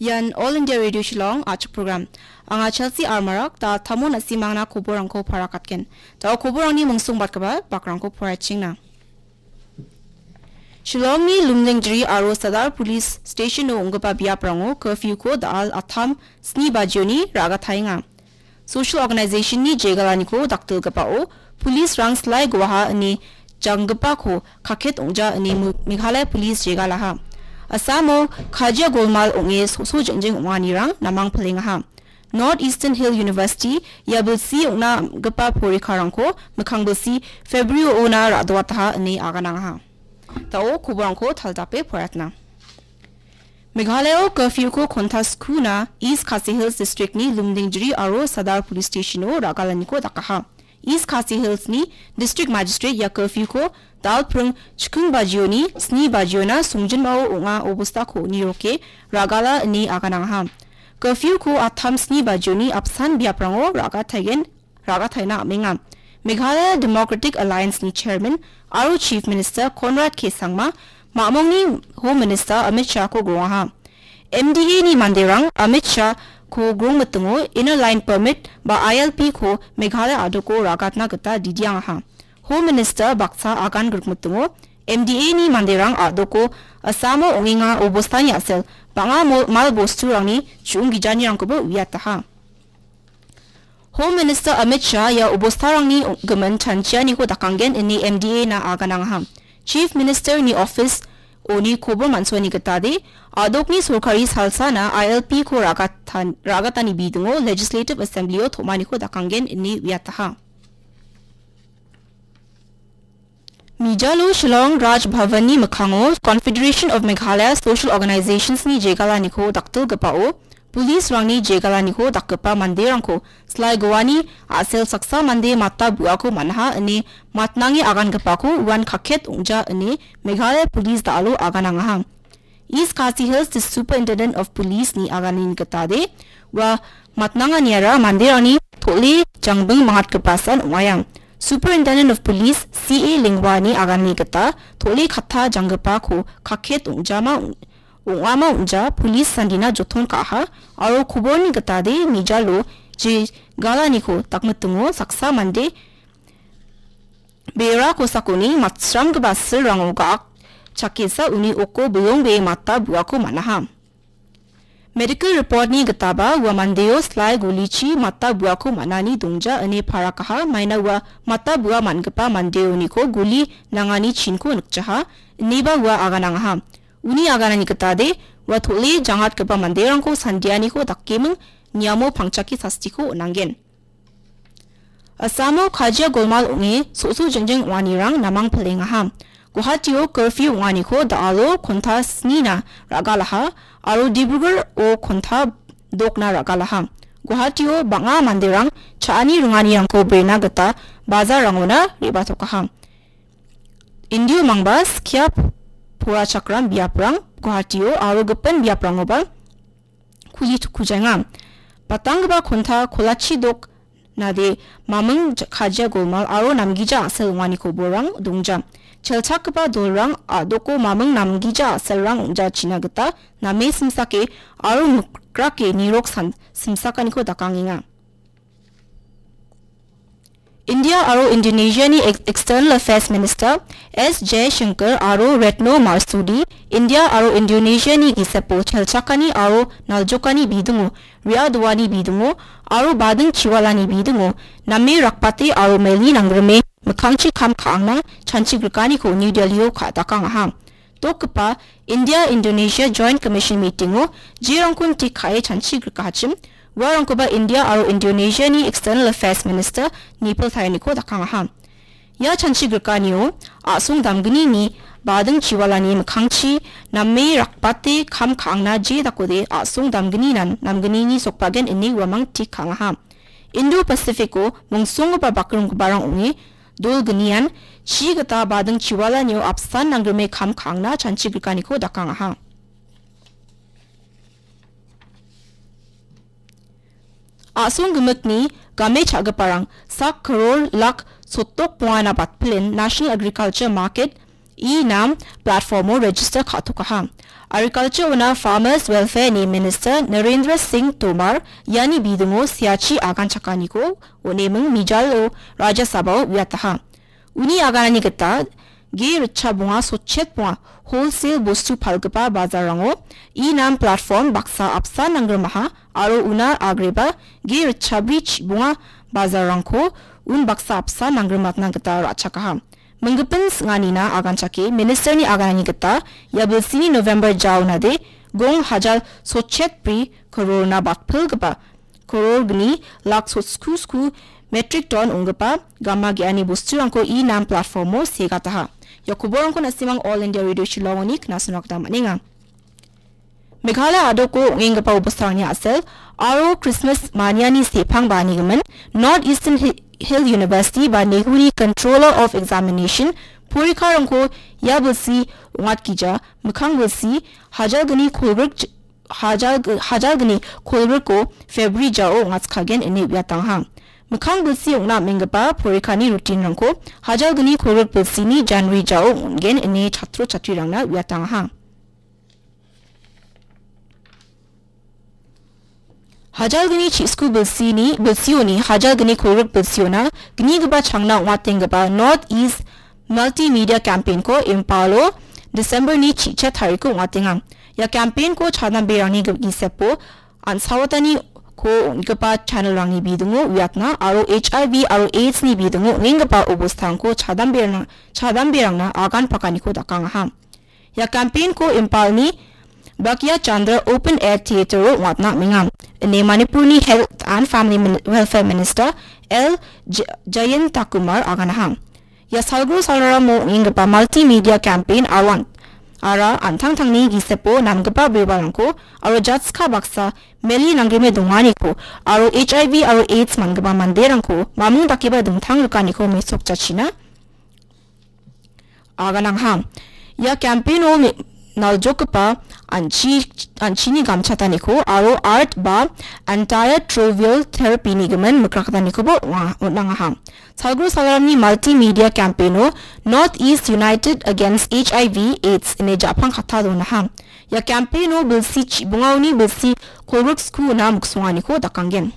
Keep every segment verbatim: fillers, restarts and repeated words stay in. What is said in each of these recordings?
Ian All India Radio Shillong a·chik program. Anga Chelsea Armarak, da tamo na·simangna koborangko parakatgen. Da·o koborangni mungsongbatgipa bakrangko poraichengna. Shillongni Lumdingjri aro Sadar Police Station-o ong·gipa biaprango curfew-ko da·al attam sni bajioni ra·gataenga. Social Organization-ni jegalaniko dakdilgipao police-rang slai guaha ine janggipako kaket ong·ja ine Mu-, Meghalaya Police jegalaha. Assamo kajia golmal ong·e so·so jengjeng ong·anirang namang pilengaha. North Eastern Hill University ia bilsi ong·na am·gipa porikarangko mikkang bilsi February-ona ra·doataha ine aganangaha. Da·o koborangko taldape poratna. Meghalaya-o curfew-ko konta skuna East Khasi Hills District-ni Lumdingjri aro Sadar Police Station-o ra·galaniko dakaha. East Khasi Hills-ni District Magistrate ia curfew-ko dalpring chikking bajioni sni bajiona songjinmao ong·a obostako niroke ra·gala ine aganangaha. Curfew-ko attam sni bajioni apsan biaprango ra·gataigen ra·gataina am·enga. Meghalaya Democratic Alliance-ni Chairman aro Chief Minister Conrad K Sangma, ma·mongni Home Minister Amit Shah-ko grongaha. M D A-ni manderang Amit Shah-ko grongmitingo Inner Line Permit ba I L P-ko Meghalaya a·doko ra·gatna gita didiangaha. Home Minister baksa agan grikmitingo M D A-ni manderang a·doko Assamo ong·enga obostani a·sel bang·a mol-, mal bosturangni chu·ong gijanirangkoba uiataha. Home Minister Amit Shah ia obostarangni gimin chanchianiko dakanggen ine M D A-na aganangaha. Chief Minister-ni office-oni kobor man·suani gitade, a·dokni sorkari salsana I L P-ko ra·gatan-, ra·gatani bidingo Legislative Assembly-o tom·aniko dakanggen ine uiataha. Mijalo Shillong Raj Bhavan-ni mikkango Confederation of Meghalaya Social Organizations-ni jegalaniko dakdilgipao, police-rangni jegalaniko dakgipa manderangko slai goani a·sel saksa mande mata bu·ako man·aha ine matnange agangipako uan kaket ong·ja ine Meghalaya Police da·alo aganangaha. East Khasi Hills Superintendent of Police-ni aganini gitade, ua matnanganiara manderangni tole jangbing mangatgipasan ong·aia. Superintendent of Police C A Lengwani aganini gita tole katta janggipako kaket ong·jama ong-, ong·ama ong·ja police sandina joton ka·aha aro koborni gitade mijalo jegalaniko dakmitingo saksa mande bera kosakoni matsramgipa silrango ga·ak chakesa uni oko bilongbee mata bu·ako man·aha. Medical report-ni gitaba ua mandeo slai golichi mata bu·ako man·ani dongja ine parakaha, maina ua mata bu·a man·gipa mandeoniko goli nangani chinko nikjaha, ineba ua aganangaha. Uni aganani gitade ua tole jangatgipa manderangko sandianiko dakeming niamo pangchake sastiko on·anggen. Assamo kajia golmal ong·e so·so jengjeng ong·anirang namang pilengaha. Guwahatio curfew ong·aniko da·alo konta snina ra·galaha aro Dibrugarh-o konta dokna ra·galaha. Guwahatio bang·a manderang cha·ani ringanirangko brena gita bazarrangona re·batokaha. Indio mangba skia porachakram biaprang Guwahatio aro gipin biaprangoba kuli tukujaenga. Batanggipa konta kolachi dok nade maming ja-, kajia golmal aro namgija a·sel ong·ani koborang dongja. Chelchakgipa dolrang a·doko maming namgija a·selrang ong·jachina gita name simsake aro mikrake nirok san-, simsakaniko dakangenga. India aro Indonesia-ni ex-, External Affairs Minister S Jaishankar aro Retno Marsudi India aro Indonesia-ni gisepo chelchakani aro naljokani bidingo, re·adoani bidingo aro bading chiwalani bidingo name rakbate aro meli nangrime mikkangchi kam ka·angna chanchigrikaniko New Delhi-o ka-, dakangaha. Dokgipa India-Indonesia Joint Commission meeting-o jerangkon tik ka·e chanchigrikachim, uarangkoba India aro Indonesia-ni External Affairs Minister nipiltaeniko dakangaha. Ia chanchigrikanio a·song damgnini bading chiwalani mikkangchi name rakbate kam ka·angna je dakode a·song damgninan namgnini sokbagen ine uamang tik ka·angaha. Indo-Pacific-o mongsonggipa bakringgiparang ong·e, dolgnian chi gita bading chiwalanio apsan nanggrime kam ka·angna chanchigrikaniko dakangaha. A·song gimikni game cha·giparang sak karor lak sotok bongana batpilen National Agriculture Market e-Naam platform-o register ka·tokaha. Agriculture-ona Farmers Welfare-ni Minister Narendra Singh Tomar iani bidingo seachi agan chakaniko on·eming mijalo Rajya Sabha-o uiataha. Uni aganani gita ge ritcha bonga, sotchet bonga, wholesale bostu palgipa bajarrango e-Naam platform baksa apsan nanggrimaha aro una agreba ge ritchabri chibonga bajarrangko un baksa apsan nanggrimatna gita ra·chakaha. Minggipin sing·anina aganchake Minister-ni aganani gita ia bilsini November jaonade gong hajal sotchet bri kororna batpilgipa koror gni lak sotsku sku metric ton ong·gipa gama ge·ani bosturangko e-Naam platform-o segataha. Ia koborangko na·simang All India Radio Shillong-oni knasona gita man·enga. Meghalaya a·doko ong·enggipa obostarangni a·sel aro Christmas maniani sepang ba·anigimin North Eastern Hi-, Hill University ba Nehuni Controller of Examination porikarangko ia bilsi ong·atgija, mikkang bilsi hajalgni kolgrik ch-, hajal-, hajalgni kolgriko February jao ong·atskagen ine uiatangaha. Mikkang bilsi ong·na am·enggipa porikani routine-rangko hajalgni kolgrik bilsini January jao ong·gen ine chatro chatrirangna uiatangaha. Hajalgni chi·sku bilsini, bilsioni hajalgni kolgrik bilsiona gnigipa changna ong·atenggipa North East Multimedia Campaign-ko Imphalo December-ni chi·chet tariko ong·atenga. Ia campaign-ko chadamberangni gi-, gisepo an·saotaniko ong·gipa channel-rangni bidingo uiatna aro H I V aro AIDS-ni bidingo ong·enggipa obostarangko chadamberangna, chadamberangna agan pakaniko dakangaha. Ia campaign-ko Imphalni Bhagyachandra Open Air Theatre-o ong·atna am·enga. Ine Manipurni Health and Family Min-, Welfare Minister L J-, Jayantakumar aganaha. Ia salgro salramo ong·enggipa multimedia campaign aro an-, ara an·tangtangni gisepo namgipa bibalrangko aro jatska baksa meli nanggrime donganiko aro H I V aro AIDS man·gipa manderangko mamung dakeba dingtang rikaniko mesokjachina aganangha. Ia campaign-o me-, naljokgipa an·chi-, an·chini gamchataniko aro art ba antiretroviral therapy-ni gimin mikrakgitanikoba ong·a-, on·angaha. Salgro salramni multimedia campaign-o North East United Against H I V AIDS ine ja·pang kata donaha. Ia campaign-o bilsi chibongaoni bilsi kolgrik sku ona miksonganiko dakanggen.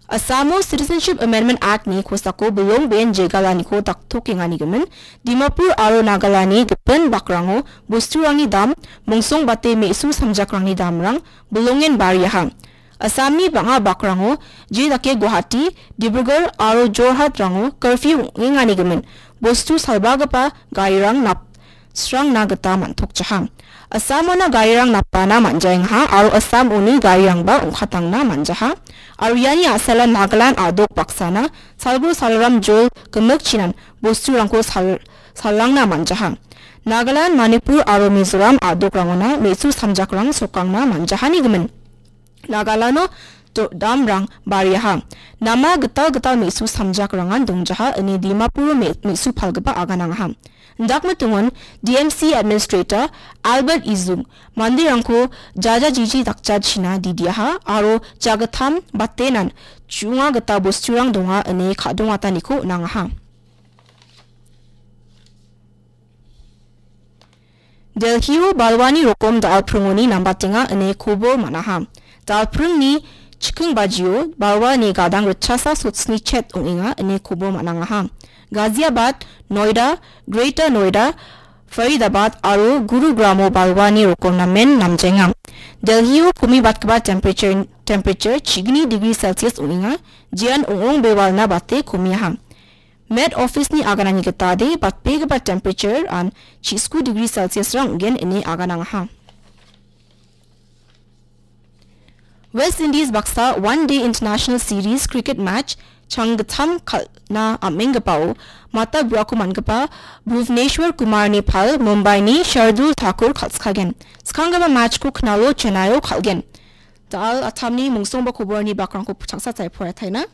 Assamo Citizenship Amendment Act-ni kosako bilong be·en jegalaniko daktokenganigimin, Dimapur aro Nagalani gipin bakrango bosturangni dam, mongsongbate me·su samjakrangni damrang bilongen bariaha. Assamni bang·a bakrango, jedake Guwahati, Dibrugarh aro Jorhatrango curfew ong·enganigimin, bostu salbagipa garirang nap-, srangna gita man·tokjaha. Assamona garirang napbana man·jaengaha aro Assam uni garirangba ong·katangna man·jaha. Aro iani a·sala Nagaland a·dok baksana salgro salram jol gimikchinan bosturangko sal-, salrangna man·jaha. Nagaland, Manipur aro Mizoram a·dokrangona me·su samjakrang sokangna man·jahani gimin. Nagalano do-, damrang bariaha. Nama gital gital me·su samjakrangan dongjaha, ine Dimapuro me-, me·su palgipa aganangaha. Indakmitingon D M C Administrator Albert Izung manderangko jajajiji dakjachina didiaha aro jagittam batenan chu·onga gita bosturang donga ine ka·dongataniko on·angaha. Delhio balwani rokom dal·pringoni nambatenga ine kobor man·aha. Dal·pringni chikking bajio balwani gadang ritchasa sotsni chet ong·enga ine kobor man·angaha. Ghaziabad, Noida, Greater Noida, Faridabad aro Gurugramo balwani rokom namen namjaenga. Delhio komibatgipa temperature, temperature chigni degree Celsius ong·enga, jean ong·ong bewalna bate komiaha. Met Office-ni aganani gitade batbegipa temperature-an chi·sku degree Celsius-rang ong·gen ine aganangaha. West Indies baksa One Day International Series cricket match changgittam kal·na am·enggipao mata buako man·gipa Bhuvneshwar Kumar-ni pal Mumbai-ni Shardul Thakur kal·skagen. Skanggipa match-ko knalo Chennai-o kal·gen. Da·al attamni mongsongba koborni bakrangko chaksa sae poraiataina.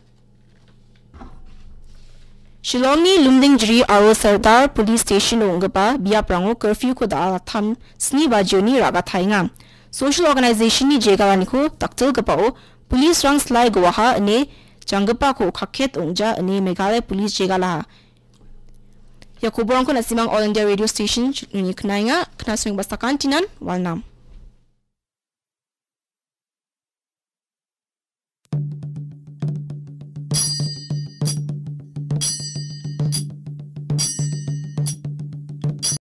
Shillongni Lumdingjiri aro Sardar Police Station-o ong·gipa biaprango curfew-ko da·al attam sni bajioni ra·gataenga. Social Organization-ni jegalaniko daktilgipao police-rang silai goaha ine janggipako kaket ong·ja ine Meghalaya Police jegalaha. Ia koborangko nasimang All India Radio Station uni knaenga, knasweng basakantinan walnam.